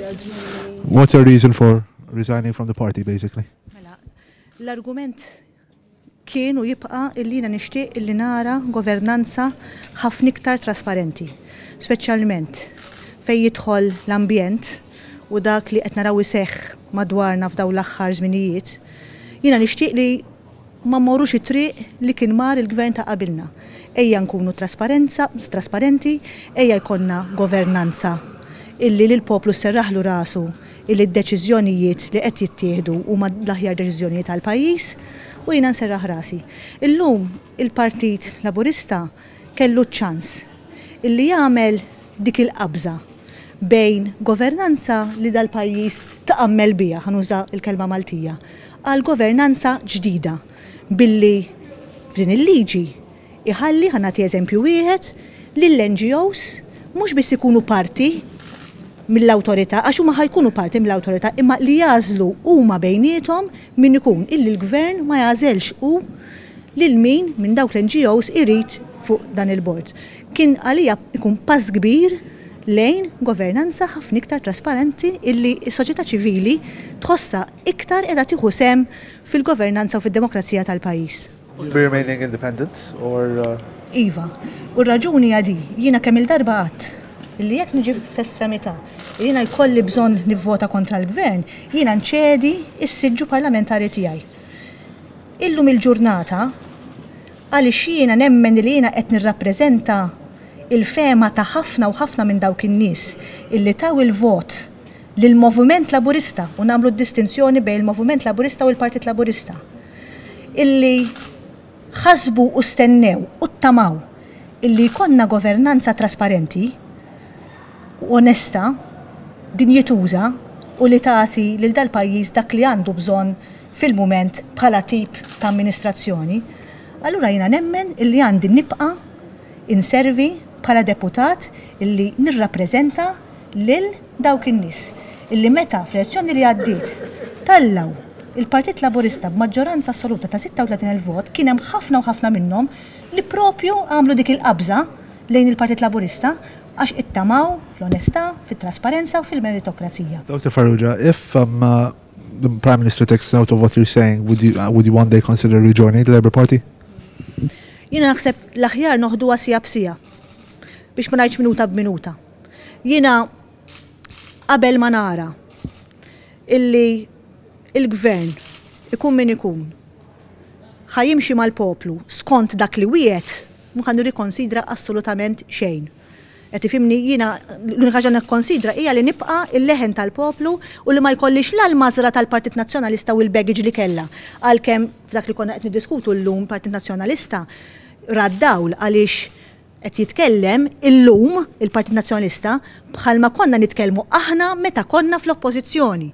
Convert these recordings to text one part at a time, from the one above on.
What's your reason for resigning from the party, basically? Mela, l-argument kien u jibqa' illi jiena nixtieq illi nara governanza ħafna iktar trasparenti, speċjalment fejn jidħol l-ambjent u dak li qed naraw iseħħ madwarna f'dawn l-aħħar żminijiet. Jiena nixtieq li ma mmorrux it-triq li kien mar il-gvern ta' qabilna. Ejja nkunu trasparenza, trasparenti, ejja jkollna governanza illi lill-poplu sserraħlu rasu illi d-deċiżjonijiet li qed jittieħdu huma l-aħjar deċiżjonijiet għall-pajjiż u jiena nserraħ rasi. Illum il-Partit Laburista kellu ċ-ċans illi jagħmel dik il-qabża bejn governanza li dal-pajjiż tqammel biha, ħa nuża l-kelma Maltija, għal governanza ġdida billi f'din il-liġi iħalli, ħa nagħti eżempju wieħed, lill-NGOs mhux biss ikunu parti mill-awtorità, għax huma ħa jkunu parti mill-awtorità, imma li jagħżlu huma bejniethom min ikun, illi l-Gvern ma jagħżelx hu lil min minn dawk l-NGOs irid fuq dan il-bord. Kien għalija ikun pass kbir lejn governanza ħafna iktar trasparenti illi s-soċjetà ċivili tħossha iktar qiegħda tieħu sehem fil-governanza u fid-demokrazija tal-pajjiż. Will you be remaining independent or? Iva. U r-raġuni hija di, jiena kemm-il darba għedt illi jekk niġi f'estremità li jiena jkolli bżonn nivvota kontra l-Gvern, jiena nċedi s-siġġu parlamentari tiegħi. Illum il-ġurnata, għaliex jiena nemmen li jiena qed nirrappreżenta l-fehma ta' ħafna u ħafna minn dawk in-nies illi taw il-vot lill-Moviment Laburista, u nagħmlu d-distinzjoni bejn il-Moviment Laburista u l-Partit Laburista, illi ħasbu u stennew u ttamaw illi jkollna governanza trasparenti u onesta, dinjituża u li tagħti lil dal-pajjiż dak li għandu bżonn fil-mument bħala tip ta' amministrazzjoni, allura jiena nemmen illi għandi nibqa' inservi bħala deputat illi nirrappreżenta lil dawk in-nies illi meta fl-elezzjoni li għaddiet tellgħu il-Partit Laburista b'maġġoranza assoluta ta' 36,000 vot kien hemm ħafna u ħafna minnhom li propju għamlu dik il-qabża lejn il-Partit Laburista għax ittamaw fl-onestà, fit-trasparenza u fil-meritokrazija. Dr. Farrugia, if um, the Prime Minister takes note of what you're saying, would you one day consider rejoining the Labour Party? Jiena naħseb l-aħjar noħduha siegħa b'siegħa biex ma ngħidx minuta b'minuta. Jiena qabel ma nara illi il-gvern ikun min ikun ħa jimxi mal-poplu skont dak li wiegħed, mhu ħa nirrikonsidra assolutament xejn. Qed tifhimni? Jiena l-unika ħaġa nikkonsidra hija li nibqa' l-leħen tal-poplu u li ma jkollix la l-mażra tal-Partit Nazzjonalista u l-baggage li kellha. Għalkemm f'dak li konna qed niddiskutu llum Partit Nazzjonalista ra d-dawl għaliex qed jitkellem illum il-Partit Nazzjonalista bħalma konna nitkellmu aħna meta konna fl-Oppożizzjoni.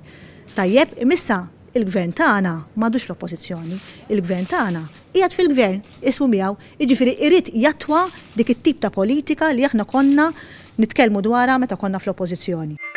Tajjeb, imma issa il-Gvern tagħna m'għadux fl-Oppożizzjoni. Il-Gvern tagħna qiegħed fil-Gvern, ismu miegħu, jiġifieri irid jattwa dik it-tip ta' politika li aħna konna nitkellmu dwarha meta konna fl-Oppożizzjoni.